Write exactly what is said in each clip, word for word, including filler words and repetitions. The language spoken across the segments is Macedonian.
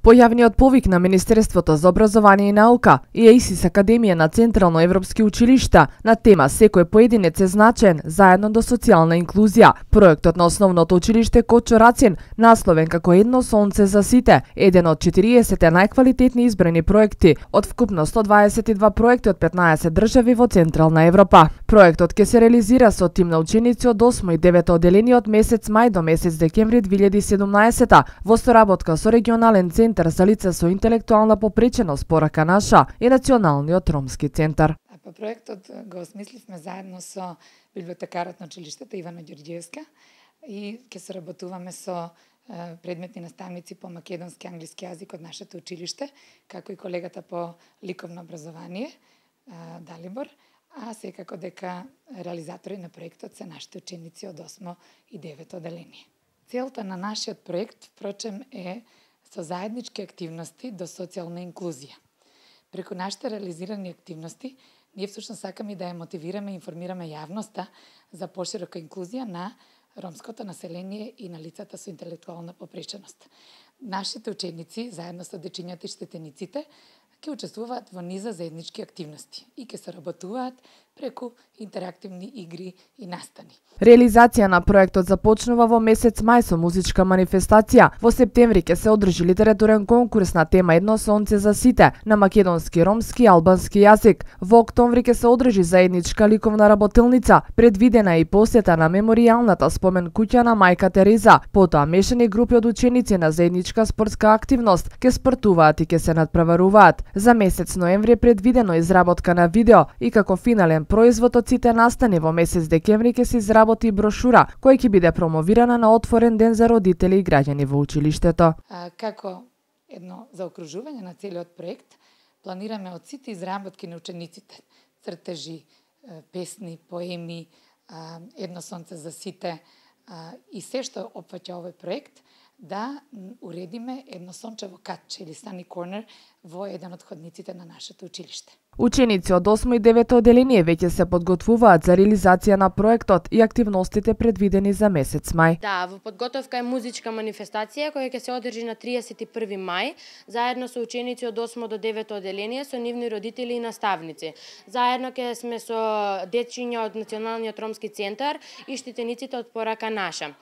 Појавниот повик на Министерството за образование и наука и ЕИСИС Академија на Централно европски училишта на тема "Секој поединец е значен, заедно до социјална инклузија". Проектот на основното училиште Кочо Рацин, насловен како "Едно сонце за сите", еден од четириесет најквалитетни избрани проекти од вкупно сто дваесет и два проекти од петнаесет држави во Централна Европа. Проектот ќе се реализира со тим на ученици од осмо и девето оделение од месец мај до месец декември две илјади и седумнаесета во соработка со регионален центар за лица со интелектуална попреченост Порака наша и Националниот ромски центар. Па проектот го осмисливме заедно со библиотекарот на училиштето Ивана Ѓорѓиевска и ќе соработуваме со предметни наставници по македонски и англиски јазик од нашето училиште, како и колегата по ликовно образование Далибор, а секако дека реализатори на проектот се нашите ученици од осмо и девето оделение. Целта на нашиот проект, впрочем, е со заеднички активности до социјална инклузија. Преку нашите реализирани активности, ние всушност сакаме да ја мотивираме и информираме јавноста за поширока инклузија на ромското население и на лицата со интелектуална попреченост. Нашите ученици, заедно со дечињата и штетениците, ќе учествуваат во низа заеднички активности и ќе соработуваат преку интерактивни игри и настани. Реализација на проектот започнува во месец мај со музичка манифестација. Во септември ќе се одржи литературен конкурс на тема "Едно сонце за сите" на македонски, ромски и албански јазик. Во октомври ќе се одржи заедничка ликовна работилница, предвидена и посета на меморијалната спомен куќа на мајка Тереза. Потоа мешани групи од ученици на заедничка спортска активност ќе спортуваат и ќе се надпреваруваат. За месец ноември е предвидено изработка на видео и како финален производ од сите настани во месец декември ќе се изработи брошура која ќе биде промовирана на отворен ден за родители и граѓани во училиштето. А, како едно заокружување на целиот проект, планираме од сите изработки на учениците, цртежи, песни, поеми, Едно сонце за сите и се што опфаќа овој проект, да уредиме едно сончево катче или sunny corner во еден од ходниците на нашето училиште. Ученици од осмо и девето оделение веќе се подготвуваат за реализација на проектот и активностите предвидени за месец мај. Да, во подготовка е музичка манифестација која ќе се одржи на триесет и први мај, заедно со ученици од осмо до девето оделение, со нивни родители и наставници. Заедно ќе сме со дечиња од Националниот ромски центар и штетениците од Порака наша.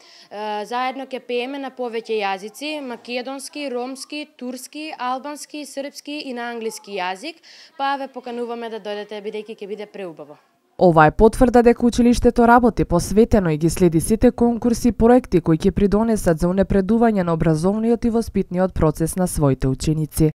Заедно ќе пееме на повеќе јазици: македонски, ромски, турски, албански, српски и на англиски јазик, па ве покануваме да дојдете, бидејќи ќе биде преубаво. Ова е потврда дека училиштето работи посветено и ги следи сите конкурси и проекти кои ќе придонесат за унапредување на образовниот и воспитниот процес на своите ученици.